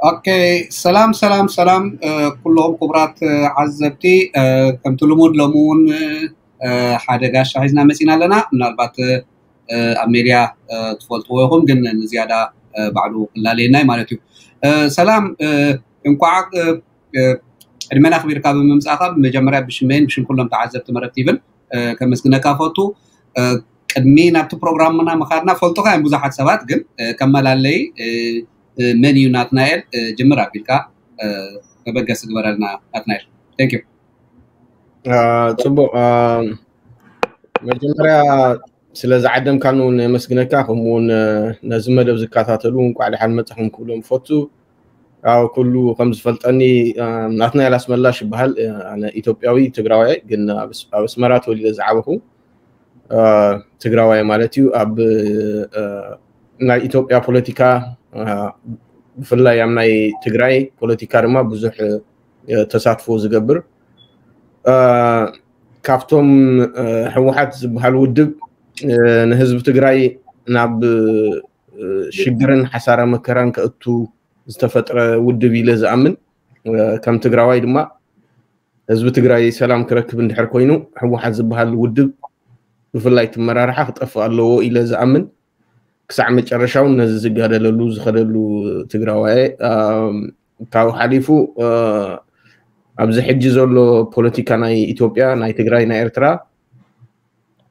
ኦኬ፣ ሰላም ሰላም ሰላም፣ እ፣ ኩሎም ክቡራት፣ እ፣ ዓዘብቲ፣ እ፣ ከምቲ ልሙድ ሎሚ እውን፣ እ፣ ሓደ ጋሻ ሒዝና መፂና ኣለና። ምናልባት፣ እ፣ ኣብ ሜድያ፣ እ፣ ትፈልጥዎ ኢኹም፣ ግን ንዝያዳ፣ እ፣ ባዕሉ ክላለየና እዩ ማለት እዩ። እ፣ ሰላም፣ እ፣ እንኳዕ፣ እ፣ እ፣ ዕድመና ኣኽቢርካ ብምምፃእካ ብመጀመርያ ብሽመይን ብሽም ኩሎም ተዓዘብቲ መረብ ቲቪን፣ እ፣ ከመስግነካ ፈቱ። እ፣ ቅድሚ ናብቲ ፕሮግራምና ምኻድና ፈልጡኻ እዮም ብዙሓት ሰባት፣ ግን፣ እ፣ ከመላለይ፣ እ፣ እ፣ መን እዩ ናትናኤል፣ እ፣ ጅምር ኣቢልካ፣ እ፣ መበገሲ ግበረልና ናትናኤል። Thank you። አ፣ ጽቡቕ። አ፣ መጀመርያ ስለ ዝዓደምካን እውን የመስግነካ፣ ከምኡ እውን፣ እ፣ ነዚ መደብ ዝከታተሉ እንኳዕ ደሓን መጻኹም ክብሎም እፈቱ። ያው ኩሉ ከም ዝፈልጠኒ፣ እ፣ ናትናኤል ኣስመላሽ ይበሃል። እ፣ ኣነ ኢትዮጵያዊ ትግራዋይ፣ ግን ኣብ ኣስ-፣ ኣብ ኣስመራ ተወሊደ ዝዓበኹ፣ እ፣ ትግራዋይ ማለት እዩ። ኣብ፣ እ፣ ናይ ኢትዮጵያ ፖለቲካ፣ እ፣ ብፍላይ ኣብ ናይ ትግራይ ፖለቲካ ድማ ብዙሕ፣ እ፣ ተሳትፎ ዝገብር፣ እ፣ ካብቶም፣ እ፣ ህወሓት ዝበሃል ውድብ፣ እ፣ ንህዝቢ ትግራይ ናብ፣ እ፣ ሽግርን ሓሳረ መከራን ከእቱ ዝተፈጥረ ውድብ ኢለ ዝኣምን፣ እ፣ ከም ትግራዋይ ድማ ህዝቢ ትግራይ ሰላም ክረክብ እንድሕር ኮይኑ ህወሓት ዝበሃል ውድብ ብፍላይ እቲ መራርሓ ክጠፍእ ኣለዎ ኢለ ዝኣምን፣ ክሳዕ መጨረሻ እውን ነዚ ዝጋደለሉ ዝኸደሉ ትግራዋይ፣ እ፣ ካብኡ ሓሊፉ፣ እ፣ ኣብዚ ሕጂ ዘሎ ፖለቲካ ናይ ኢትዮጵያ፣ ናይ ትግራይ፣ ናይ ኤርትራ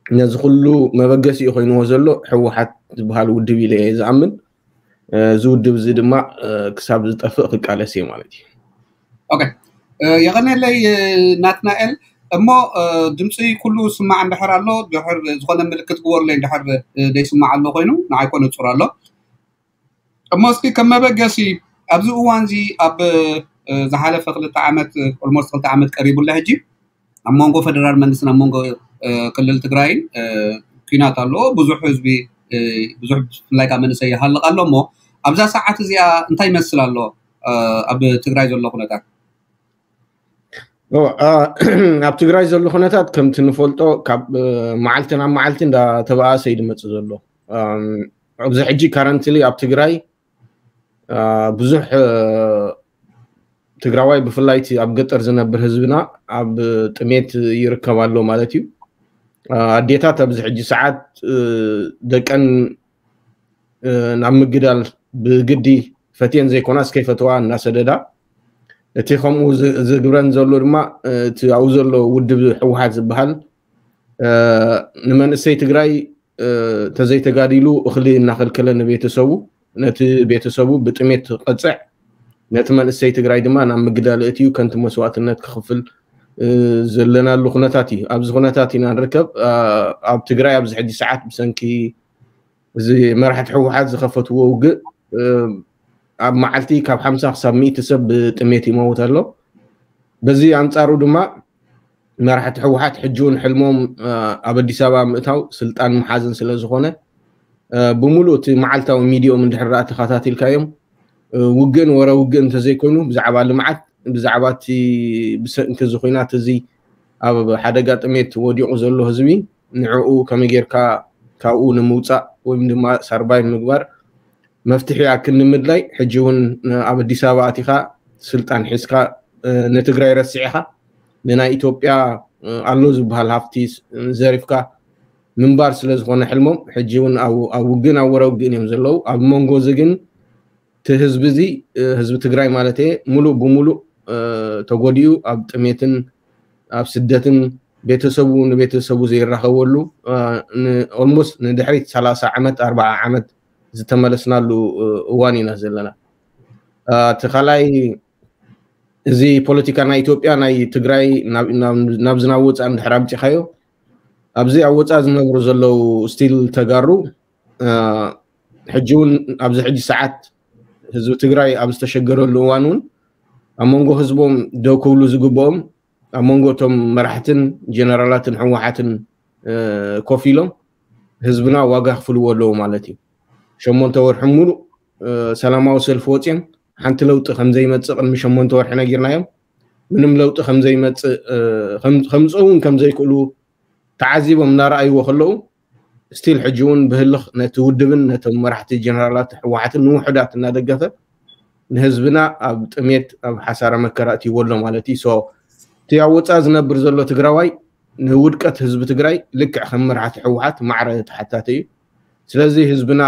ነዚ ኩሉ መበገሲኡ ኮይንዎ ዘሎ ህወሓት ዝበሃል ውድብ ኢለ እየ ዝኣምን። እ፣ እዚ ውድብ እዚ ድማ፣ እ፣ ክሳብ ዝጠፍእ ክቃለስ እየ ማለት እዩ። ኦኬ፣ እ፣ የቐንየለይ፣ እ፣ ናትናኤል። እሞ፣ እ፣ ድምፂ ኩሉ ስማዕ እንድሕር ኣሎ፣ ድሕር ዝኾነ ምልክት ግበሩለይ እንድሕር፣ እ፣ ደይስማዕ ኣሎ ኮይኑ፣ ንዓይ ኮ ንፁር ኣሎ። እሞ እስኪ ከም መበገሲ ኣብዚ እዋን እዚ ኣብ፣ እ፣ ዝሓለፈ ክልተ ዓመት፣ ኦልሞስት ክልተ ዓመት ቀሪቡ ኣሎ ሕጂ ኣብ መንጎ ፌደራል መንግስትን ኣብ መንጎ፣ እ፣ ክልል ትግራይን፣ እ፣ ኲናት ኣሎ። ብዙሕ ህዝቢ፣ እ፣ ብዙሕ ብፍላይ ካብ መንእሰይ ይሃልቕ ኣሎ። እሞ ኣብዛ ሰዓት እዚኣ እንታይ ይመስል ኣሎ፣ እ፣ ኣብ ትግራይ ዘሎ ኩነታት? ኦ፣ አ፣ ኣብ ትግራይ ዘሎ ኩነታት ከምቲ ንፈልጦ ካብ፣ እ፣ መዓልቲ ናብ መዓልቲ እንዳተባኣሰ እዩ ዝመጽእ ዘሎ። ኣም፣ ኣብዚ ሕጂ ካረንትሊ ኣብ ትግራይ፣ አ፣ ብዙሕ፣ እ፣ ትግራዋይ ብፍላይ እቲ ኣብ ገጠር ዝነብር ህዝብና ኣብ ጥሜት ይርከብ ኣሎ ማለት እዩ። አ፣ ኣዴታት ኣብዚ ሕጂ ሰዓት፣ እ፣ ደቀን፣ እ፣ ናብ ምግዳል ብግዲ ፈትየን ዘይኮናስ ከይፈተዋ እናሰደዳ፣ እቲ ከምኡ ዝ-፣ ዝግብረን ዘሎ ድማ፣ እ፣ እቲ ኣብኡ ዘሎ ውድብ ህወሓት ዝበሃል፣ እ፣ ንመንእሰይ ትግራይ፣ እ፣ ተዘይተጋዲሉ እኽሊ እናኸልከለ ንቤተሰቡ፣ ነቲ ቤተሰቡ ብጥሜት ክቐፅዕ፣ ነቲ መንእሰይ ትግራይ ድማ ናብ ምግዳል እትዩ ከንቲ መስዋእትነት ክኽፍል፣ እ፣ ዘለናሉ ኩነታት እዩ። ኣብዚ ኩነታት ኢና ንርከብ። አ፣ ኣብ ትግራይ ኣብዚ ሕጂ ሰዓት ብሰንኪ እዚ መራሕቲ ህወሓት ዝኸፈትዎ ውግእ፣ እ፣ ኣብ መዓልቲ ካብ ሓምሳ ክሳብ ሚእቲ ሰብ ብጥሜት ይመውት ኣሎ። በዚ ኣንጻሩ ድማ መራሕቲ ህወሓት ሕጂ እውን ሕልሞም፣ እ፣ ኣብ ኣዲስ ኣበባ ምእታው ስልጣን ምሓዝን ስለ ዝኾነ፣ እ፣ ብምሉእ እቲ መዓልታዊ ሚዲዮም እንድሕር ደኣ ተኸታቲልካዮም፣ እ፣ ውግእን ወረ ውግእን እንተዘይኮይኑ ብዛዕባ ልምዓት፣ ብዛዕባ እቲ ብሰንኪ እዚ ኹናት እዚ ኣብ ሓደጋ ጥሜት ወዲቑ ዘሎ ህዝቢ ንዕኡ ከመይ ጌርካ ካብኡ ንምውፃእ ወይም ድማ ሳርቫይቭ ምግባር መፍትሒ ኣክል ንምድላይ ሕጂ እውን ኣብ ኣዲስ ኣበባ ኣቲኻ ስልጣን ሒዝካ፣ እ፣ ንትግራይ ረሲዕኻ ንናይ ኢትዮጵያ፣ እ፣ ኣሎ ዝበሃል ሃፍቲ ስ-፣ ዘሪፍካ ምንባር ስለ ዝኾነ ሕልሞም ሕጂ እውን ኣብ፣ ኣብ ውግእን ኣብ ወረ ውግእን እዮም ዘለዉ። ኣብ መንጎ እዚ ግን እቲ ህዝቢ እዚ፣ እ፣ ህዝቢ ትግራይ ማለት እየ፣ ሙሉእ ብሙሉእ፣ እ፣ ተጎዲኡ ኣብ ጥሜትን ኣብ ስደትን ቤተሰቡ ንቤተሰቡ ዘይራኸበሉ፣ እ፣ ን-፣ ኦልሞስት ንድሕሪት ሰላሳ ዓመት፣ ኣርባዓ ዓመት ዝተመለስናሉ፣ እ፣ እዋን ኢና ዘለና። እ፣ እቲ ካልኣይ እዚ ፖለቲካ ናይ ኢትዮጵያ ናይ ትግራይ ናብ፣ ናብ፣ ናብዚ ናብ ወፃእ እንድሕር ኣምፂኻዮ፣ ኣብዚ ኣብ ወፃእ ዝነብሩ ዘለዉ ስቲል ተጋሩ፣ እ፣ ሕጂ እውን ኣብዚ ሕጂ ሰዓት ህዝቢ ትግራይ ኣብ ዝተሸገረሉ እዋን እውን ኣብ መንጎ ህዝቦም ደው ክብሉ ዝግብኦም ኣብ መንጎ እቶም መራሕትን ጀነራላትን ህወሓትን፣ እ፣ ኮፍ ኢሎም ህዝብና ዋጋ ክፍልዎ ኣለዉ ማለት እዩ። ሸሞንተ ወርሒ ሙሉእ፣ እ፣ ሰላማዊ ሰልፊ ወፂኦም ሓንቲ ለውጢ ከም ዘይመፅእ ቅድሚ ሸሞንተ ወርሒ ነጊርናዮም። ምንም ለውጢ ከም ዘይመፅእ፣ እ፣ ከም-፣ ከምፅኡ እውን ከም ዘይክእሉ ተዓዚቦም እናረኣይዎ ከለዉ፣ ስቲል ሕጂ እውን ብህልኽ ነቲ ውድብን ነቶም መራሕቲ ጀነራላት ህወሓትን ንውሑዳት እናደገፈ ንህዝብና ኣብ ጥሜት ኣብ ሓሳረ መከራ እትይዎ ኣሎ ማለት እዩ። So እቲ ኣብ ወፃኢ ዝነብር ዘሎ ትግራዋይ ንውድቀት ህዝቢ ትግራይ ልክዕ ከም መራሕቲ ህወሓት ማዕረ ተሓታቲ እዩ። ስለዚ ህዝብና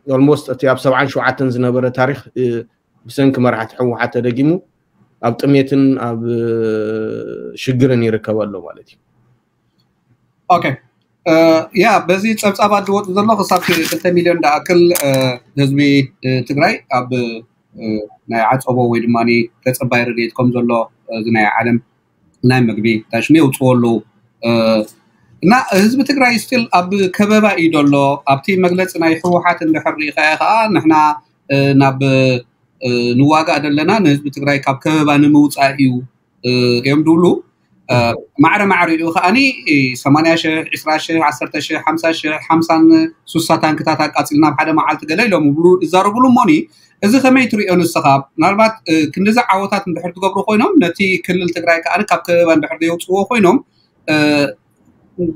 almost እቲ ኣብ ሰብዓን ሸውዓተን ዝነበረ ታሪክ ብሰንኪ መራሕቲ ህወሓት ተደጊሙ ኣብ ጥሜትን ኣብ ሽግርን ይርከብ ኣሎ ማለት እዩ። ኦኬ፣ ያ በዚ ፀብፃባት ዝወፁ ዘሎ ክሳብ ክልተ ሚሊዮን ዝኣክል ህዝቢ ትግራይ ኣብ ናይ ዓፀቦ ወይ ድማ ተፀባይ ረድኤት ከም ዘሎ እዚ ናይ ዓለም ናይ ምግቢ ታሽሚ የውፅዎ ኣለዉ እና ህዝቢ ትግራይ ስቲል ኣብ ከበባ እዩ ዘሎ። ኣብቲ መግለፂ ናይ ህወሓት እንድሕር ሪኢኻዮ ከዓ ንሕና ናብ ንዋጋእ ዘለና ንህዝቢ ትግራይ ካብ ከበባ ንምውፃእ እዩ እዮም ድብሉ። ማዕረ ማዕሪኡ ከዓኒ ሰማንያ ሽሕ፣ ዕስራ ሽሕ፣ ዓሰርተ ሽሕ፣ ሓምሳ ሽሕ፣ ሓምሳን ሱሳ ታንክታት ኣቃፂልና ኣብ ሓደ መዓልቲ ገለ ኢሎም ይብሉ ይዛረቡሉ። እሞኒ እዚ ከመይ ትሪኦ ንስኻ? ምናልባት ክንዲዚ ዓወታት እንድሕር ትገብሩ ኮይኖም ነቲ ክልል ትግራይ ከዓኒ ካብ ከበባ እንድሕር ዘየውፅዎ ኮይኖም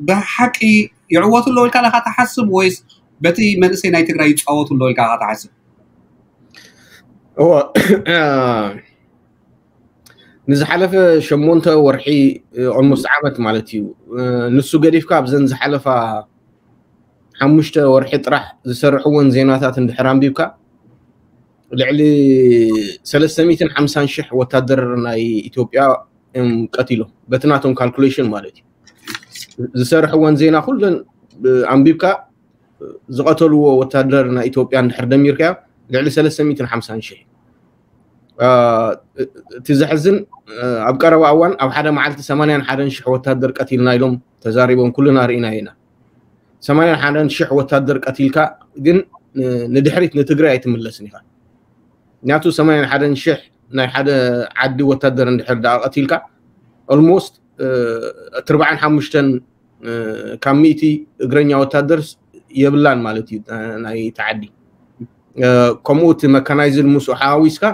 ብሓቂ ይዕወቱ ኣለዉ ኢልካ ዲኻ ትሓስብ ወይስ በቲ መንእሰይ ናይ ትግራይ ይፃወቱ ኣለዉ ኢልካ ዲኻ ትሓስብ? እወ ንዝሓለፈ ሸሞንተ ወርሒ almost ዓመት ማለት እዩ። ንሱ ገዲፍካ ኣብዘን ዝሓለፋ ሓሙሽተ ወርሒ ጥራሕ ዝሰርሕወን ዜናታት እንድሕር ኣንቢብካ ልዕሊ ሰለስተ ሚእትን ሓምሳን ሽሕ ወታደር ናይ ኢትዮጵያ እዮም ቀቲሎም በቲ ናቶም ካልኩሌሽን ማለት እዩ። ዝሰርሕወን ዜና ኩለን ኣንቢብካ ዝቐተልዎ ወታደር ናይ ኢትዮጵያ እንድሕር ደሚርካዮ ልዕሊ ሰለስተ ሚእትን ሓምሳን ሽሕ። እቲ ዘሕዝን ኣብ ቀረባ እዋን ኣብ ሓደ መዓልቲ ሰማንያን ሓደን ሽሕ ወታደር ቀቲልና ኢሎም ተዛሪቦም ኩልና ርኢና ኢና። ሰማንያን ሓደን ሽሕ ወታደር ቀቲልካ ግን ንድሕሪት ንትግራይ ኣይትምለስን ኢኻ። ምክንያቱ ሰማንያን ሓደን ሽሕ ናይ ሓደ ዓዲ ወታደር እንድሕር ደኣ ቀቲልካ almost ኣርብዓን ሓሙሽተን ካብ ሚእቲ እግረኛ ወታደር የብላን ማለት እዩ ናይቲ ዓዲ። ከምኡ እቲ መካናይዝድ ምስኡ ሓዋዊስካ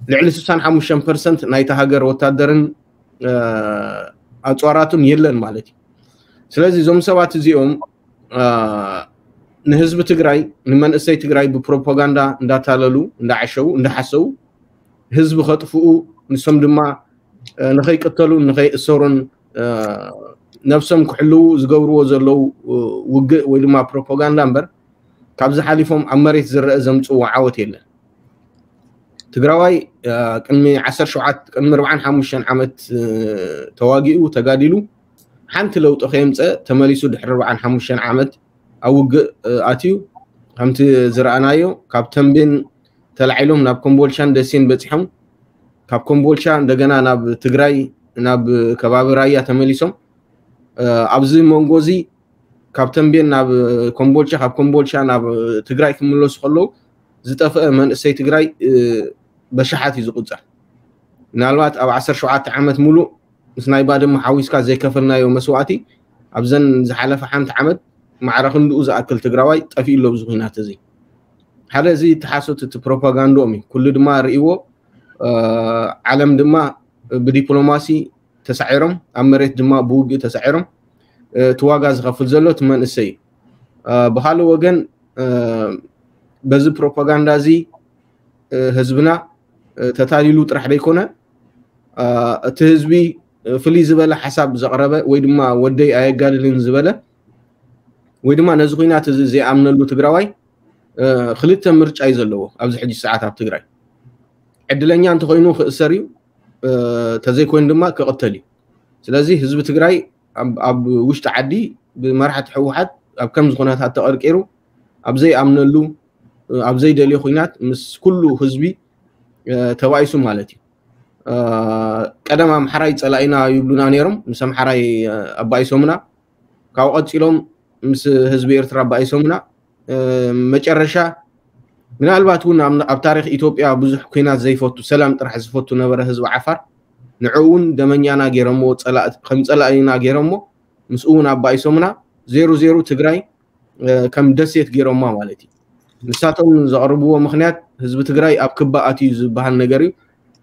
ልዕሊ ስሳን ሓሙሽተን ፐርሰንት ናይቲ ሃገር ወታደርን ኣፅዋራቱን የለን ማለት እዩ። ስለዚ እዞም ሰባት እዚኦም ንህዝቢ ትግራይ ንመንእሰይ ትግራይ ብፕሮፓጋንዳ እንዳታለሉ እንዳዓሸው እንዳሓሰው ህዝቢ ከጥፍኡ ንሶም ድማ ንኸይቅተሉን ንኸይእሰሩን ነብሶም ክሕልዉ ዝገብርዎ ዘለዉ ውግእ ወይ ድማ ፕሮፓጋንዳ እምበር ካብዚ ሓሊፎም ኣብ መሬት ዝረአ ዘምፅዎ ዓወት የለን። ትግራዋይ ቅድሚ ዓሰርተ ሸውዓተ ቅድሚ ኣርብዓን ሓሙሽተን ዓመት ተዋጊኡ ተጋዲሉ ሓንቲ ለውጢ ከየምፀ ተመሊሱ ድሕሪ ኣርብዓን ሓሙሽተን ዓመት ኣብ ውግእ ኣትዩ ከምቲ ዝረኣናዮ ካብ ተንቤን ተላዒሎም ናብ ኮምቦልቻን ደሴን በፂሖም ካብ ኮምቦልቻ እንደገና ናብ ትግራይ ናብ ከባቢ ራያ ተመሊሶም ኣብዚ መንጎ እዚ ካብ ተንቤን ናብ ኮምቦልቻ ካብ ኮምቦልቻ ናብ ትግራይ ክምለሱ ከለዉ ዝጠፍአ መንእሰይ ትግራይ በሽሓት እዩ ዝቁፀር። ምናልባት ኣብ ዓሰርተ ሸውዓተ ዓመት ሙሉእ ምስ ናይ ባድመ ሓዊስካ ዘይከፈልናዮ መስዋእቲ ኣብዘን ዝሓለፈ ሓንቲ ዓመት ማዕረ ክንድኡ ዝኣክል ትግራዋይ ጠፊኡ ኣሎ ኣብዚ ኩናት እዚ። ሓደ እዚ ተሓሶት እቲ ፕሮፓጋንዶኦም እዩ። ኩሉ ድማ ርእይዎ ዓለም ድማ ብዲፕሎማሲ ተሳዒሮም ኣብ መሬት ድማ ብውግእ ተሳዒሮም እቲ ዋጋ ዝኸፍል ዘሎ እቲ መንእሰይ እዩ። ብካልእ ወገን በዚ ፕሮፓጋንዳ እዚ ህዝብና ተታሊሉ ጥራሕ ዘይኮነ እቲ ህዝቢ ፍልይ ዝበለ ሓሳብ ዘቕረበ ወይ ድማ ወደይ ኣየጋድልን ዝበለ ወይ ድማ ነዚ ኩናት እዚ ዘይኣምነሉ ትግራዋይ ክልተ ምርጫ እዩ ዘለዎ ኣብዚ ሕጂ ሰዓት ኣብ ትግራይ። ዕድለኛ እንተኮይኑ ክእሰር እዩ፣ ተዘይኮይኑ ድማ ክቕተል እዩ። ስለዚ ህዝቢ ትግራይ ኣብ ውሽጢ ዓዲ ብመራሕቲ ህወሓት ኣብ ከምዚ ኩነታት ተቐርቂሩ ኣብ ዘይኣምነሉ ኣብ ዘይደልዮ ኩናት ምስ ኩሉ ህዝቢ ተባኢሱ ማለት እዩ። ቀደም ኣምሓራይ ፀላኢና ይብሉና ነይሮም፣ ምስ ኣምሓራይ ኣባኢሶምና፣ ካብኡ ቀፂሎም ምስ ህዝቢ ኤርትራ ኣባኢሶምና፣ መጨረሻ ምናልባት እውን ኣብ ታሪክ ኢትዮጵያ ብዙሕ ኩናት ዘይፈቱ ሰላም ጥራሕ ዝፈቱ ነበረ ህዝቢ ዓፋር። ንዕኡ እውን ደመኛና ገይሮምዎ፣ ከም ፀላኢና ገይሮምዎ፣ ምስኡ እውን ኣባኢሶምና። ዜሩ ዜሩ ትግራይ ከም ደሴት ገይሮማ ማለት እዩ። ንሳቶም ዘቕርብዎ ምክንያት ህዝቢ ትግራይ ኣብ ክባ ኣትዩ ዝበሃል ነገር እዩ።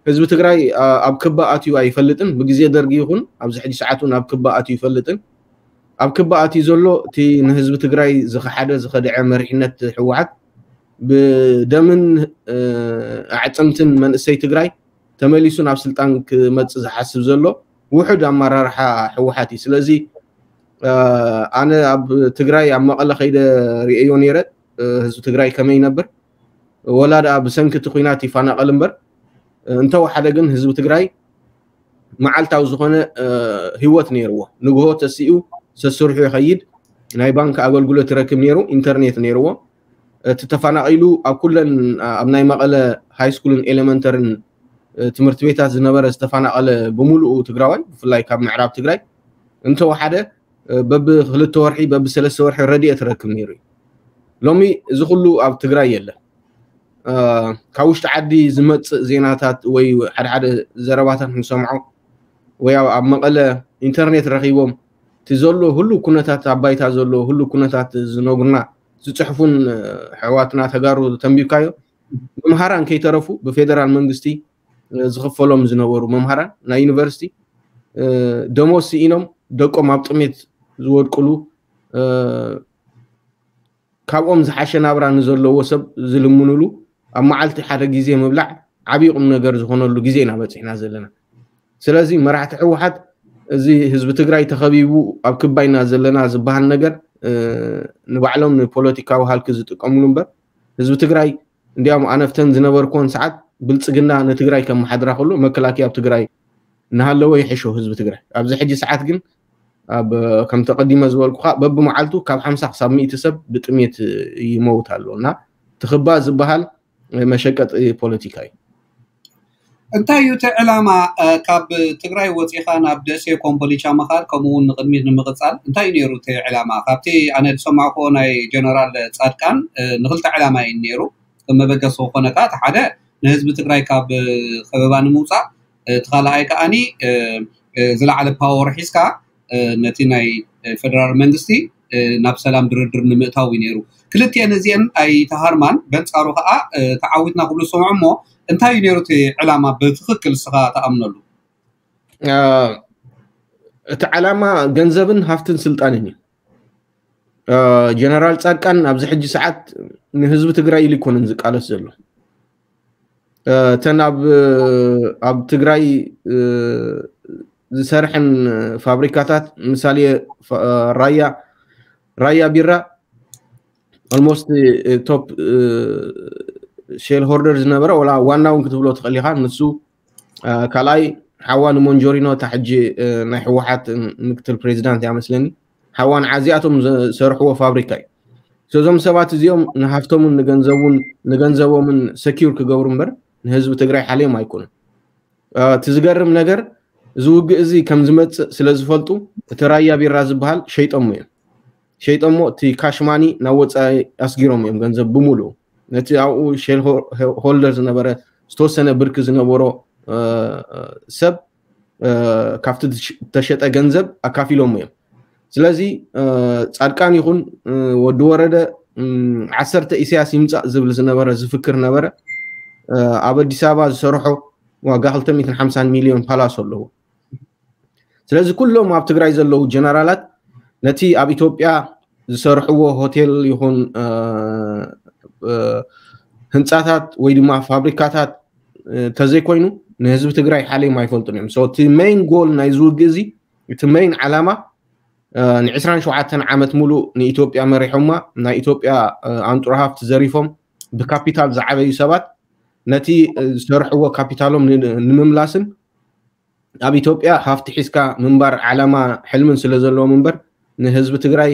ህዝቢ ትግራይ ኣብ ክባ ኣትዩ ኣይፈልጥን። ብግዜ ደርጊ ይኹን ኣብዚ ሕጂ ሰዓት እውን ኣብ ክባ ኣትዩ ይፈልጥን። ኣብ ክባ ኣትዩ ዘሎ እቲ ንህዝቢ ትግራይ ዝኸሓደ ዝኸድዐ መሪሕነት ህወሓት ብደምን ኣዕፅምትን መንእሰይ ትግራይ ተመሊሱ ናብ ስልጣን ክመፅእ ዝሓስብ ዘሎ ውሑድ ኣመራርሓ ህወሓት እዩ። ስለዚ ኣነ ኣብ ትግራይ ኣብ መቐለ ከይደ ርእዮ ነይረ፣ ህዝቢ ትግራይ ከመይ ይነብር፣ ወላ ደኣ ብሰንኪ እቲ ኲናት ይፋናቐል እምበር፣ እንተወሓደ ግን ህዝቢ ትግራይ መዓልታዊ ዝኾነ ህይወት ነይርዎ። ንግሆ ተሲኡ ሰስርሑ ይኸይድ፣ ናይ ባንክ ኣገልግሎት ይረክብ ነይሩ፣ ኢንተርኔት ነይርዎ። እቲ ተፈናቒሉ ኣብ ኩለን ኣብ ናይ መቐለ ሃይስኩልን ኤሌመንተርን ትምህርቲ ቤታት ዝነበረ ዝተፈናቐለ ብምሉኡ ትግራዋይ፣ ብፍላይ ካብ ምዕራብ ትግራይ እንተወሓደ በብክልተ ወርሒ በብሰለስተ ወርሒ ረድኤት ይረክብ ነይሩ እዩ። ሎሚ እዚ ኩሉ ኣብ ትግራይ የለን። ካብ ውሽጢ ዓዲ ዝመፅእ ዜናታት ወይ ሓደሓደ ዘረባታት ንሰምዖ ወይ ኣብ መቐለ ኢንተርኔት ረኺቦም እቲ ዘሎ ሁሉ ኩነታት ኣብ ባይታ ዘሎ ሁሉ ኩነታት ዝነግሩና ዝፅሕፉን ኣሕዋትና ተጋሩ ተንቢብካዮ መምሃራን ከይተረፉ ብፌደራል መንግስቲ ዝኽፈሎም ዝነበሩ መምሃራን ናይ ዩኒቨርሲቲ ደሞዝ ስኢኖም ደቆም ኣብ ጥሜት ዝወድቅሉ ካብኦም ዝሓሸ ናብራ ንዘለዎ ሰብ ዝልምኑሉ ኣብ መዓልቲ ሓደ ግዜ ምብላዕ ዓብዪ ቁም ነገር ዝኾነሉ ግዜ ኢና በፂሕና ዘለና። ስለዚ መራሕቲ ህወሓት እዚ ህዝቢ ትግራይ ተኸቢቡ ኣብ ክባይና ዘለና ዝበሃል ነገር ንባዕሎም ንፖለቲካዊ ሃልኪ ዝጥቀምሉ እምበር ህዝቢ ትግራይ እንዲያውም ኣነፍተን ዝነበርኩዎን ሰዓት ብልፅግና ንትግራይ ከመሓድራ ከሎ መከላከያ ኣብ ትግራይ እናሃለወ ይሕሾ ህዝቢ ትግራይ። ኣብዚ ሕጂ ሰዓት ግን ኣብ ከም ተቐዲመ ዝበልኩኻ በብመዓልቱ ካብ ሓምሳ ክሳብ ሚእቲ ሰብ ብጥሜት ይመውት ኣሎ እና ትኽባ ዝበሃል መሸቀጢ ፖለቲካ እዩ። እንታይ እዩ እቲ ዕላማ ካብ ትግራይ ወፂኻ ናብ ደሴ ኮምቦሊቻ ምኻድ ከምኡ እውን ንቅድሚት ንምቕፃል እንታይ እዩ ነይሩ እቲ ዕላማ? ካብቲ ኣነ ዝሰማዕኩዎ ናይ ጀነራል ፃድቃን ንክልተ ዕላማ እዩ ነይሩ። መበገሲ ዝኾነ ከዓ እቲ ሓደ ንህዝቢ ትግራይ ካብ ከበባ ንምውፃእ እቲ ካልኣይ ከዓኒ ዝለዓለ ፓወር ሒዝካ ነቲ ናይ ፌደራል መንግስቲ ናብ ሰላም ድርድር ንምእታው እዩ ነይሩ። ክልቲአን እዚአን ኣይተሃርማን፣ በንፃሩ ከዓ ተዓዊትና ክብሉ ዝሰምዑ። እሞ እንታይ እዩ ነይሩ እቲ ዕላማ ብትክክል እስኻ ተኣምነሉ? እቲ ዓላማ ገንዘብን ሃፍትን ስልጣንን እዩ። ጀነራል ፃድቃን ኣብዚ ሕጂ ሰዓት ንህዝቢ ትግራይ ኢሉ ይኮነን ዝቃለስ ዘሎ። እተን ኣብ ትግራይ ዝሰርሐን ፋብሪካታት ምሳሌ ራያ ራያ ቢራ ኦልሞስት ቶፕ ሼር ሆልደር ዝነበረ ወላ ዋና እውን ክትብሎ ትኽእል ኢኻ። ንሱ ካልኣይ ሓዋ ንሞንጆሪኖ እታ ሕጂ ናይ ህወሓት ምክትል ፕሬዚዳንት እያ መስለኒ። ሓዋ ንዓዚኣቶም ዝሰርሕዎ ፋብሪካ እዩ። እዞም ሰባት እዚኦም ንሃፍቶምን ንገንዘቡን ንገንዘቦምን ሰኪር ክገብሩ እምበር ንህዝቢ ትግራይ ሓልዮም ኣይኮኑን። እቲ ዝገርም ነገር እዚ ውግእ እዚ ከም ዝመፅእ ስለ ዝፈልጡ እቲ ራያ ቢራ ዝበሃል ሸይጦሞ እዮም። ሸይጦሞ እቲ ካሽማኒ ናብ ወፃኢ ኣስጊሮም እዮም ገንዘብ ብምሉኡ ነቲ ኣብኡ ሼር ሆልደር ዝነበረ ዝተወሰነ ብርኪ ዝነበሮ ሰብ ካብቲ ዝተሸጠ ገንዘብ ኣካፊሎሞ እዮም። ስለዚ ፃድቃን ይኹን ወዲ ወረደ ዓሰርተ ኢሳያስ ይምፃእ ዝብል ዝነበረ ዝፍክር ነበረ። ኣብ ኣዲስ ኣበባ ዝሰርሖ ዋጋ ክልተ ሚእትን ሓምሳን ሚልዮን ፓላሶ ኣለዎ። ስለዚ ኩሎም ኣብ ትግራይ ዘለዉ ጀነራላት ነቲ ኣብ ኢትዮጵያ ዝሰርሕዎ ሆቴል ይኹን ህንፃታት ወይ ድማ ፋብሪካታት ተዘይኮይኑ ንህዝቢ ትግራይ ሓልዮም ኣይፈልጡን እዮም። እቲ ሜይን ጎል ናይ ዝውግእ እዚ እቲ ሜይን ዓላማ ን27 ዓመት ሙሉእ ንኢትዮጵያ መሪሖማ ናይ ኢትዮጵያ ኣንጡራ ሃፍቲ ዘሪፎም ብካፒታል ዝዓበዩ ሰባት ነቲ ዝሰርሕዎ ካፒታሎም ንምምላስን ኣብ ኢትዮጵያ ሃፍቲ ሒዝካ ምንባር ዓላማ ሕልምን ስለ ዘለዎም እምበር ንህዝቢ ትግራይ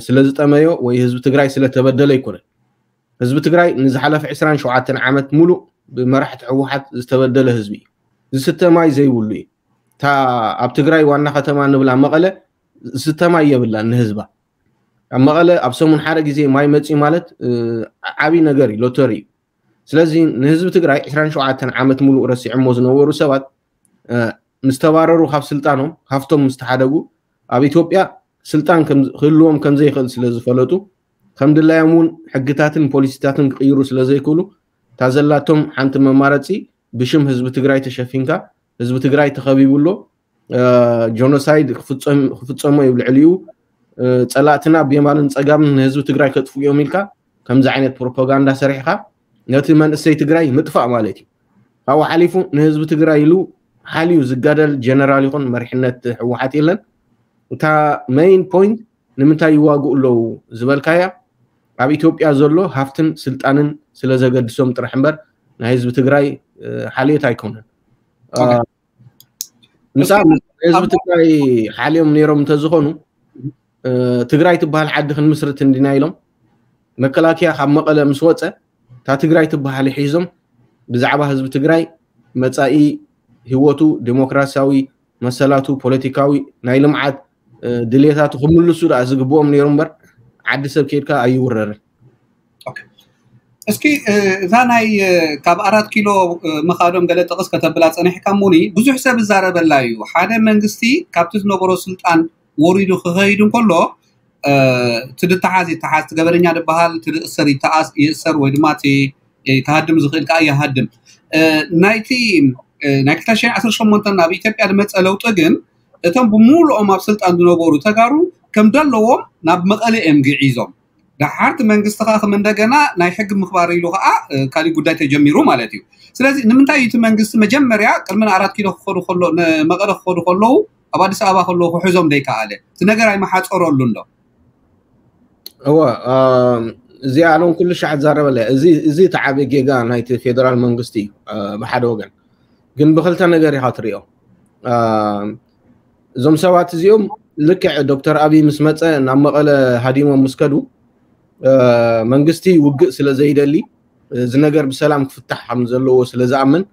ስለ ዝጠመዮ ወይ ህዝቢ ትግራይ ስለ ተበደለ ኣይኮነን። ህዝቢ ትግራይ ንዝሓለፈ ዕስራን ሸውዓተን ዓመት ሙሉእ ብመራሕቲ ህወሓት ዝተበደለ ህዝቢ እዩ። ዝስተ ማይ ዘይብሉ እዩ። እታ ኣብ ትግራይ ዋና ከተማ ንብላ መቐለ ዝስተ ማይ የብላን ንህዝባ። ኣብ መቐለ ኣብ ሰሙን ሓደ ግዜ ማይ መፅዩ ማለት ዓብዪ ነገር እዩ፣ ሎተሪ እዩ። ስለዚ ንህዝቢ ትግራይ ዕስራን ሸውዓተን ዓመት ሙሉእ ረሲዖሞ ዝነበሩ ሰባት ምስ ተባረሩ ካብ ስልጣኖም ሃፍቶም ምስ ተሓደጉ ኣብ ኢትዮጵያ ስልጣን ክህልዎም ከም ዘይኽእል ስለ ዝፈለጡ ከም ድላዮም እውን ሕግታትን ፖሊሲታትን ክቕይሩ ስለ ዘይክእሉ እታ ዘላቶም ሓንቲ መማረፂ ብሽም ህዝቢ ትግራይ ተሸፊንካ ህዝቢ ትግራይ ተኸቢቡ ኣሎ ጆኖሳይድ ክፍፀሞ እዩ ልዕሊኡ ፀላእትና ብየማንን ፀጋምን ንህዝቢ ትግራይ ከጥፍኡ እዮም ኢልካ ከምዚ ዓይነት ፕሮፓጋንዳ ሰሪሕካ ነቲ መንእሰይ ትግራይ ምጥፋእ ማለት እዩ። ካብኡ ሓሊፉ ንህዝቢ ትግራይ ኢሉ ሓልዩ ዝጋደል ጀነራል ይኹን መሪሕነት ህወሓት የለን። እታ ሜይን ፖይንት ንምንታይ ይዋግኡ ኣለዉ ዝበልካያ ኣብ ኢትዮጵያ ዘሎ ሃፍትን ስልጣንን ስለ ዘገድሶም ጥራሕ እምበር ናይ ህዝቢ ትግራይ ሓልዮት ኣይኮነን። ምሳ ህዝቢ ትግራይ ሓልዮም ነይሮም እንተዝኾኑ ትግራይ ትበሃል ዓዲ ክንምስርት እንዲና ኢሎም መከላከያ ካብ መቐለ ምስ ወፀ እታ ትግራይ ትበሃል ሒዞም ብዛዕባ ህዝቢ ትግራይ መፃኢ ህይወቱ ዴሞክራሲያዊ መሰላቱ ፖለቲካዊ ናይ ልምዓት ድሌታቱ ክምልሱ ደኣ ዝግብኦም ነይሩ እምበር ዓዲ ሰብ ከይድካ ኣይውረርን። እስኪ እዛ ናይ ካብ ኣራት ኪሎ ምኻዶም ገለ ጥቕስ ከተብላ ፀኒሕካ ሙኒ ብዙሕ ሰብ እዛረበላ እዩ። ሓደ መንግስቲ ካብቲ ዝነበሮ ስልጣን ወሪዱ ክኸይድ እንከሎ እቲ ድተሓዝ ይተሓዝ፣ እቲ ገበነኛ ድበሃል፣ እቲ ድእሰር ይተኣስ ይእሰር ወይ ድማ እቲ ክሃድም ዝኽእል ከዓ ይሃድም። ናይቲ ናይ ክልተ ሺሕ ዓሰርተ ሸሞንተ ናብ ኢትዮጵያ ዝመፀ ለውጢ ግን እቶም ብምሉኦም ኣብ ስልጣን ዝነበሩ ተጋሩ ከም ደለዎም ናብ መቐለ እዮም ግዒዞም። ደሓርቲ መንግስቲ ከዓ ከም እንደገና ናይ ሕጊ ምኽባር ኢሉ ከዓ ካሊእ ጉዳይ ተጀሚሩ ማለት እዩ። ስለዚ ንምንታይ እቲ መንግስቲ መጀመርያ ቅድሚ ንኣራት ኪሎ ክኸዱ ከሎ ንመቐለ ክኸዱ ከለዉ ኣብ ኣዲስ ኣበባ ከለዉ ክሕዞም ዘይከኣለ እቲ ነገር ኣይመሓፀረሉን ዶ? እወ እዚኣ ሎም ኩሉ ሻዕ ትዛረበለ እዚ እቲ ዓበ ጌጋ ናይቲ ፌደራል መንግስቲ እዩ። ብሓደ ወገን ግን ብክልተ ነገር ኢኻ ትሪኦ። እዞም ሰባት እዚኦም ልክዕ ዶክተር ኣብይ ምስ መፀ ናብ መቐለ ሃዲሞም ምስ ከዱ መንግስቲ ውግእ ስለ ዘይደሊ እዚ ነገር ብሰላም ክፍታሕ ከም ዘለዎ ስለ ዝኣምን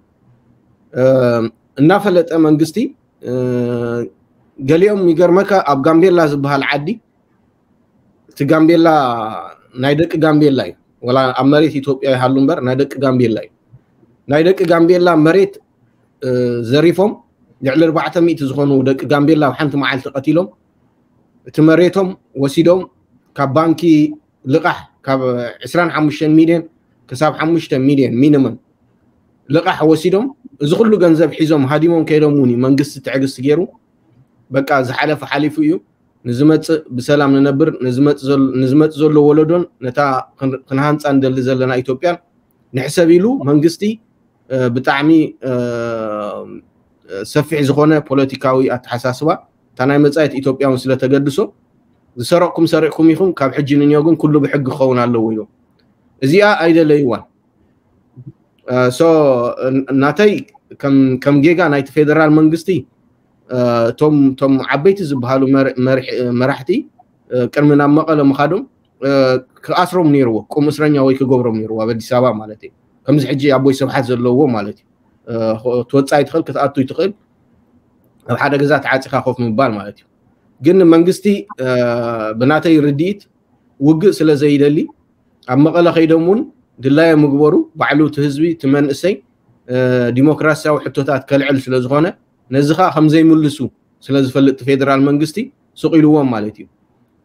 እናፈለጠ መንግስቲ ገሊኦም ይገርመካ ኣብ ጋምቤላ ዝበሃል ዓዲ እቲ ጋምቤላ ናይ ደቂ ጋምቤላ እዩ። ወላ ኣብ መሬት ኢትዮጵያ ይሃሉ እምበር ናይ ደቂ ጋምቤላ እዩ። ናይ ደቂ ጋምቤላ መሬት ዘሪፎም ልዕሊ ኣርባዕተ ሚእቲ ዝኾኑ ደቂ ጋምቤላ ኣብ ሓንቲ መዓልቲ ቀቲሎም እቲ መሬቶም ወሲዶም ካብ ባንኪ ልቓሕ ካብ ዕስራን ሓሙሽተን ሚልዮን ክሳብ ሓሙሽተ ሚልዮን ሚኒመም ልቓሕ ወሲዶም እዚ ኩሉ ገንዘብ ሒዞም ሃዲሞም ከይዶም እውን እዩ መንግስቲ ትዕግስቲ ገይሩ በቃ ዝሓለፈ ሓሊፉ እዩ ንዝመፅእ ብሰላም ንነብር ንዝመፅ ዘሎ ወለዶን ነታ ክንሃንፃ ንደሊ ዘለና ኢትዮጵያን ንሕሰብ ኢሉ መንግስቲ ብጣዕሚ ሰፊሕ ዝኾነ ፖለቲካዊ ኣተሓሳስባ እታ ናይ መፃኢት ኢትዮጵያ እውን ስለተገድሶ ዝሰረቕኩም ሰሪቕኩም ኢኹም ካብ ሕጂ ንንዮ ግን ኩሉ ብሕጊ ክኸውን ኣለዎ ኢሎም እዚኣ ኣይደለይዋን ናተይ ከም ጌጋ ናይቲ ፌደራል መንግስቲ እቶም ዓበይቲ ዝበሃሉ መራሕቲ ቅድሚ ናብ መቐለ ምኻዶም ክኣስሮም ነይርዎ ቁም እስረኛ ወይ ክገብሮም ነይርዎ ኣብ ኣዲስ ኣበባ ማለት እዩ ከምዚ ሕጂ ኣቦይ ስብሓት ዘለዎ ማለት እዩ ትወፃእ ይትኽእል ክትኣቱ ይትኽእል ኣብ ሓደ ገዛ ተዓፂኻ ኮፍ ምባል ማለት እዩ ግን መንግስቲ ብናተይ ርድኢት ውግእ ስለ ዘይደሊ ኣብ መቐለ ከይዶም እውን ድላዮም ምግበሩ ባዕሉ እቲ ህዝቢ እቲ መንእሰይ ዲሞክራሲያዊ ሕቶታት ከልዕል ስለ ዝኾነ ነዚ ከዓ ከም ዘይምልሱ ስለ ዝፈልጥ እቲ ፌደራል መንግስቲ ስቕ ኢልዎም ማለት እዩ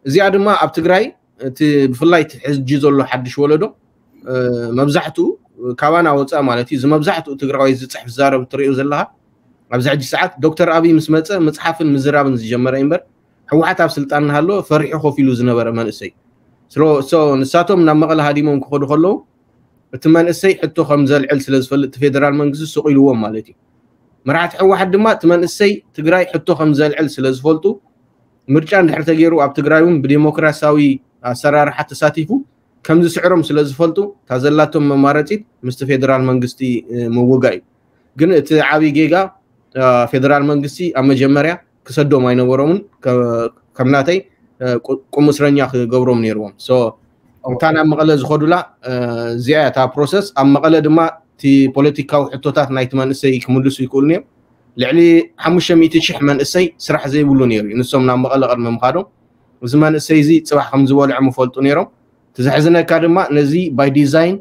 እዚኣ ድማ ኣብ ትግራይ እቲ ብፍላይ እቲ ሕጂ ዘሎ ሓድሽ ወለዶ መብዛሕትኡ ካባና ወፃእ ማለት እዩ እዚ መብዛሕትኡ ትግራዋይ ዝፅሕፍ ዝዛረብ እትሪኦ ዘለካ ኣብዚ ሕጂ ሰዓት ዶክተር ኣብይ ምስ መፀ ምፅሓፍን ምዝራብን ዝጀመረ እምበር ህወሓት ኣብ ስልጣን እናሃለወ ፈሪሑ ኮፍ ኢሉ ዝነበረ መንእሰይ ንሳቶም ናብ መቐለ ሃዲሞም ክኸዱ ከለዉ እቲ መንእሰይ ሕቶ ከም ዘልዕል ስለ ዝፈልጥ እቲ ፌደራል መንግስቲ ስቕ ኢልዎም ማለት እዩ መራሕቲ ህወሓት ድማ እቲ መንእሰይ ትግራይ ሕቶ ከም ዘልዕል ስለ ዝፈልጡ ምርጫ እንድሕር ተገይሩ ኣብ ትግራይ እውን ብዴሞክራሲያዊ ኣሰራርሓ ተሳቲፉ ከም ዝስዕሮም ስለ ዝፈልጡ እታ ዘላቶም መማረፂት ምስቲ ፌደራል መንግስቲ ምውጋእ እዩ ግን እቲ ዓብዪ ጌጋ ፌደራል መንግስቲ ኣብ መጀመርያ ክሰዶም ኣይነበሮምን ከም ናተይ ቁም እስረኛ ክገብሮም ነይርዎም እታ ናብ መቐለ ዝኸዱላ እዚኣ እታ ፕሮሰስ ኣብ መቐለ ድማ እቲ ፖለቲካዊ ሕቶታት ናይቲ መንእሰይ ክምልሱ ይክእሉ እዮም ልዕሊ ሓሙሽተ ሚእቲ ሽሕ መንእሰይ ስራሕ ዘይብሉ ነይሩ እዩ ንሶም ናብ መቐለ ቅድሚ ምኻዶም እዚ መንእሰይ እዚ ፅባሕ ከም ዝበልዖም ይፈልጡ ነይሮም እቲ ዘሕዝነካ ድማ ነዚ ባይ ዲዛይን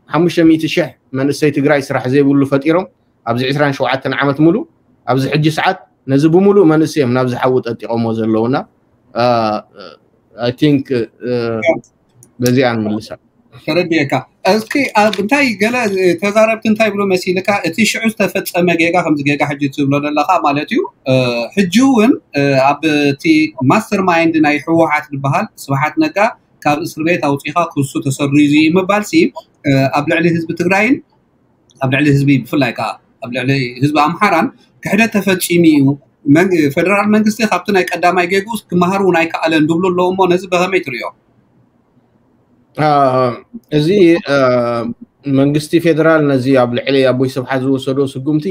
ሓሙሽተ ሚእቲ ሽሕ መንእሰይ ትግራይ ስራሕ ዘይብሉ ፈጢሮም ኣብዚ ዕስራን ሸውዓተን ዓመት ሙሉእ ኣብዚ ሕጂ ሰዓት ነዚ ብምሉእ መንእሰይ እዮም ናብ ዝሓዊ ጠጢቆሞ ዘለውና I think በዚኣ ንምልሳ ተረድየካ እስኪ ኣብ እንታይ ገለ ተዛረብቲ እንታይ ብሎ መሲልካ እቲ ሽዑ ዝተፈፀመ ጌጋ ከምዚ ጌጋ ሕጂ ትብሎ ዘለካ ማለት እዩ ሕጂ እውን ኣብ እቲ ማስተር ማይንድ ናይ ህወሓት ዝበሃል ስብሓት ነጋ ካብ እስር ቤት ኣውፂኻ ክሱ ተሰሪዙ እዩ ምባልሲ ኣብ ልዕሊ ህዝቢ ትግራይን ኣብ ልዕሊ ህዝቢ ብፍላይ ከዓ ኣብ ልዕሊ ህዝቢ ኣምሓራን ክሕደት ተፈፂሙ እዩ። ፈደራል መንግስቲ ካብቲ ናይ ቀዳማይ ጌግኡስ ክመሃር እውን ኣይከኣለን ዝብሉ ኣለዉ እሞ ነዚ በኸመይ ትሪኦ? እዚ መንግስቲ ፌደራል ነዚ ኣብ ልዕሊ ኣቦይ ስብሓት ዝወሰዶ ስጉምቲ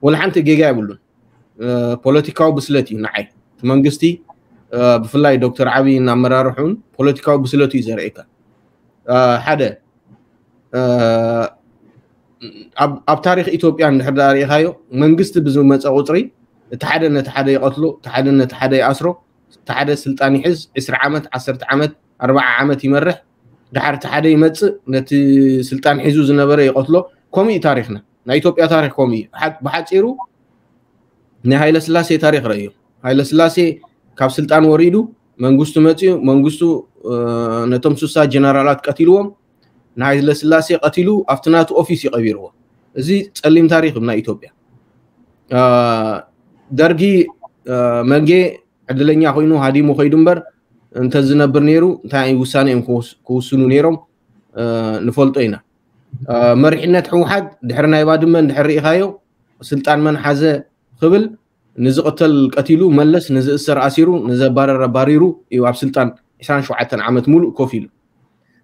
ወላ ሓንቲ ጌጋ የብሉን። ፖለቲካዊ ብስለት እዩ ንዓይ እቲ መንግስቲ ብፍላይ ዶክተር ዓብይን ኣመራርሑን ፖለቲካዊ ብስለቱ እዩ ዘርእካ። ሓደ ኣብ ታሪክ ኢትዮጵያ እንድሕር ዳ ርኢካዮ መንግስቲ ብዝመፀ ቁፅሪ እቲ ሓደ ነቲ ሓደ ይቀትሎ፣ እቲ ሓደ ነቲ ሓደ ይኣስሮ፣ እቲ ሓደ ስልጣን ይሕዝ ዕስራ ዓመት፣ ዓሰርተ ዓመት፣ ኣርባዓ ዓመት ይመርሕ። ድሓር እቲ ሓደ ይመፅእ ነቲ ስልጣን ሒዙ ዝነበረ ይቀትሎ። ከምኡ እዩ ታሪክና። ናይ ኢትዮጵያ ታሪክ ከምኡ እዩ። ብሓፂሩ ናይ ሃይለ ስላሴ ታሪክ ረእዮ። ሃይለ ስላሴ ካብ ስልጣን ወሪዱ መንግስቱ መፅኡ፣ መንግስቱ ነቶም ሱሳ ጀነራላት ቀቲልዎም፣ ንሃይለ ስላሴ ቀቲሉ ኣብቲ ናቱ ኦፊስ ይቀቢርዎ። እዚ ፀሊም ታሪክ ናይ ኢትዮጵያ። ደርጊ መንጌ ዕድለኛ ኮይኑ ሃዲሙ ከይዱ እምበር እንተዝነብር ነይሩ እንታይ ውሳነ እዮም ክውስኑ ነይሮም ንፈልጦ ኢና። መሪሕነት ህወሓት ድሕሪ ናይ ባድመ እንድሕር ርኢኻዮ ስልጣን መን ሓዘ ክብል ንዝቕተል ቀቲሉ መለስ ንዝእሰር ኣሲሩ ንዘባረር ኣባሪሩ እዩ ኣብ ስልጣን ዕስራን ሸውዓተን ዓመት ሙሉእ ኮፍ ኢሉ።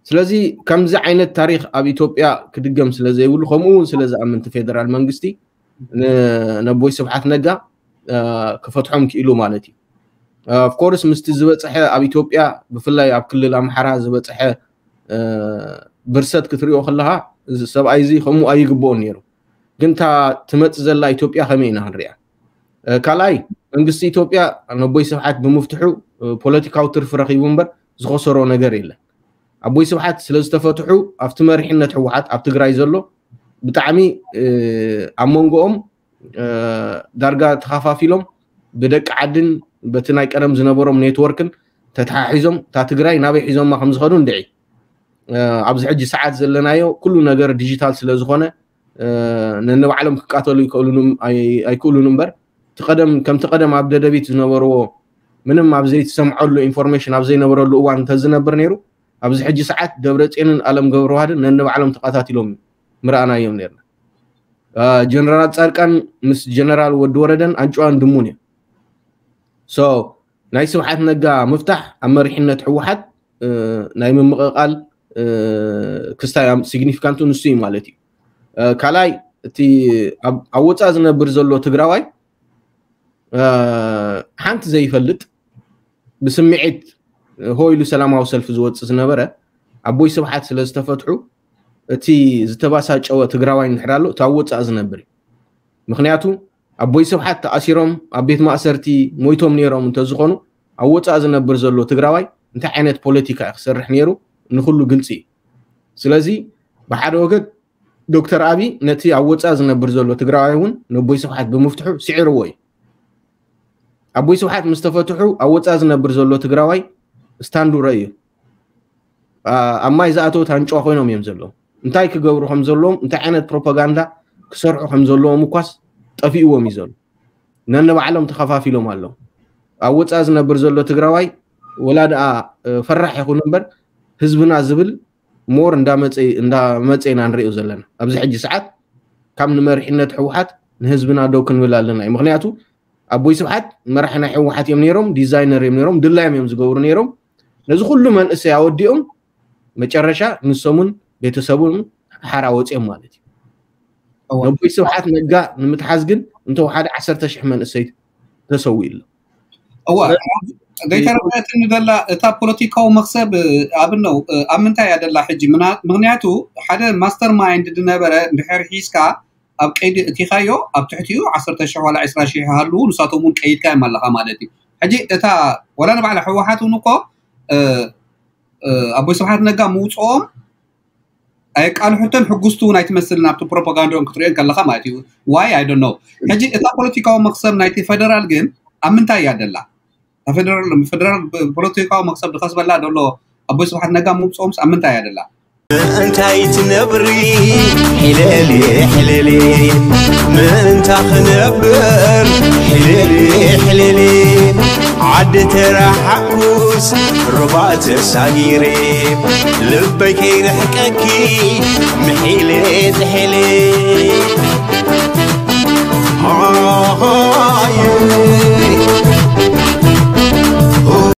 ስለዚ ከምዚ ዓይነት ታሪክ ኣብ ኢትዮጵያ ክድገም ስለዘይብሉ ከምኡ እውን ስለዝኣምን እቲ ፌደራል መንግስቲ ነቦይ ስብሓት ነጋ ክፈትሖም ክኢሉ ማለት እዩ። ኦፍኮርስ ምስቲ ዝበፅሐ ኣብ ኢትዮጵያ ብፍላይ ኣብ ክልል ኣምሓራ ዝበፅሐ ብርሰት ክትሪኦ ከለካ እዚ ሰብኣይ እዚ ከምኡ ኣይግብኦን ነይሩ። ግን እታ ትመፅ ዘላ ኢትዮጵያ ከመይ ኢና ክንሪኣ? ካልኣይ መንግስቲ ኢትዮጵያ ነቦይ ስብሓት ብምፍትሑ ፖለቲካዊ ትርፊ ረኪቡ እምበር ዝኸሰሮ ነገር የለን። ኣቦይ ስብሓት ስለዝተፈትሑ ኣብቲ መሪሕነት ህወሓት ኣብ ትግራይ ዘሎ ብጣዕሚ ኣብ መንጎኦም ዳርጋ ተኸፋፊሎም ብደቂ ዓድን በቲ ናይ ቀደም ዝነበሮም ኔትወርክን ተተሓሒዞም እታ ትግራይ ናበይ ሒዞማ ከምዝኸዱ እንድዒ። ኣብዚ ሕጂ ሰዓት ዘለናዮ ኩሉ ነገር ዲጂታል ስለዝኾነ ነንባዕሎም ክቃተሉ ኣይክእሉን እምበር እቲ ቀደም ከምቲ ቀደም ኣብ ደደቢት ዝነበርዎ ምንም ኣብ ዘይትሰምዐሉ ኢንፎርሜሽን ኣብ ዘይነበረሉ እዋን እንተዝነብር ነይሩ ኣብዚ ሕጂ ሰዓት ደብረፅዮንን ኣለም ገብረዋህድን ነንባዕሎም ተቃታቲሎም ምረኣናዮም ነርና። ጀነራል ፃድቃን ምስ ጀነራል ወዲ ወረደን ኣንጭዋን ድሙን እዮም። ሶ ናይ ስብሓት ነጋ ምፍታሕ ኣብ መሪሕነት ህወሓት ናይ ምምቕቓል ክስታይ ሲግኒፊካንቱ ንሱ እዩ ማለት እዩ። ካልኣይ እቲ ኣብ ወፃእ ዝነብር ዘሎ ትግራዋይ ሓንቲ ዘይፈልጥ ብስምዒት ሆ ኢሉ ሰላማዊ ሰልፊ ዝወፅእ ዝነበረ ኣቦይ ስብሓት ስለ ዝተፈትሑ እቲ ዝተባሳጨወ ትግራዋይ እንድሕር ኣሎ እቲ ኣብ ወፃእ ዝነብር እዩ። ምክንያቱ ኣቦይ ስብሓት ተኣሲሮም ኣብ ቤት ማእሰርቲ ሞይቶም ነይሮም እንተዝኾኑ ኣብ ወፃእ ዝነብር ዘሎ ትግራዋይ እንታይ ዓይነት ፖለቲካ እዩ ክሰርሕ ነይሩ ንኩሉ ግልፂ እዩ። ስለዚ ብሓደ ወገን ዶክተር ኣብይ ነቲ ኣብ ወፃእ ዝነብር ዘሎ ትግራዋይ እውን ነቦይ ስብሓት ብምፍትሑ ስዒርዎ እዩ። ኣቦይ ስብሓት ምስ ተፈትሑ ኣብ ወፃእ ዝነብር ዘሎ ትግራዋይ ስታንዱ ረእዩ ኣብ ማይ ዝኣተወት ኣንጭዋ ኮይኖም እዮም ዘለዉ። እንታይ ክገብሩ ከም ዘለዎም እንታይ ዓይነት ፕሮፓጋንዳ ክሰርሑ ከም ዘለዎም እኳስ ጠፊእዎም እዩ ዘሎ። ነንባዕሎም ተኸፋፊሎም ኣለዉ። ኣብ ወፃእ ዝነብር ዘሎ ትግራዋይ ወላ ደኣ ፈራሕ ይኹን እምበር ህዝብና ዝብል ሞር እንዳመፀ እንዳመፀ ኢና ንሪኦ ዘለና ኣብዚ ሕጂ ሰዓት ካብ ንመሪሕነት ህወሓት ንህዝብና ደው ክንብል ኣለና እዩ። ምክንያቱ ኣቦይ ስብሓት መራሒ ናይ ህወሓት እዮም ነይሮም፣ ዲዛይነር እዮም ነይሮም፣ ድላዮም እዮም ዝገብሩ ነይሮም። ነዚ ኩሉ መንእሰይ ኣወዲኦም መጨረሻ ንሶምን ቤተሰቡን ሓራ ወፂኦም ማለት እዩ። ነቦይ ስብሓት ነጋ ንምትሓዝ ግን እንተወሓደ ዓሰርተ ሽሕ መንእሰይ ተሰዊኡ ኣሎ። እዋ ገይተረፈትኒ ዘላ እታ ፖለቲካዊ መክሰብ ኣብነው ኣብ ምንታይ እያ ደላ ሕጂ? ምክንያቱ ሓደ ማስተር ማይንድ ዝነበረ እንድሕር ሒዝካ ኣብ ቀይዲ እቲኻዮ ኣብ ትሕቲኡ ዓሰርተ ሽሕ ዋላ ዕስራ ሽሕ ይሃልዉ ንሳቶም እውን ቀይድካ እዮም ኣለኻ ማለት እዩ። ሕጂ እታ ወላ ንባዕላ ህወሓት እውን እኮ ኣቦይ ስብሓት ነጋ ምውፅኦም ኣየቃልሑተን ሕጉስቲ እውን ኣይትመስልን ኣብቲ ፕሮፓጋንዳኦም ክትሪኦ ከለካ ማለት እዩ። ዋይ ኣይ ዶንት ኖ። ሕጂ እታ ፖለቲካዊ መክሰብ ናይቲ ፈደራል ግን ኣብ ምንታይ እያ ደላ? ፈደራል ፖለቲካዊ መክሰብ ዝኸስበላ ዘሎ ኣቦይ ስብሓት ነጋ ምውፅኦምስ ኣብ ምንታይ እያ ደላ? እንታይ ትነብሪ ሕለሊ ሕለሊ ምእንታ ክነብር ሕለሊ ሕለሊ ዓዲ ተረሓኩስ ሩባ ተሳጊረ፣ ልበይ ከይርሕቀኪ ምሒለ ጥሒለ። ሃሃ፣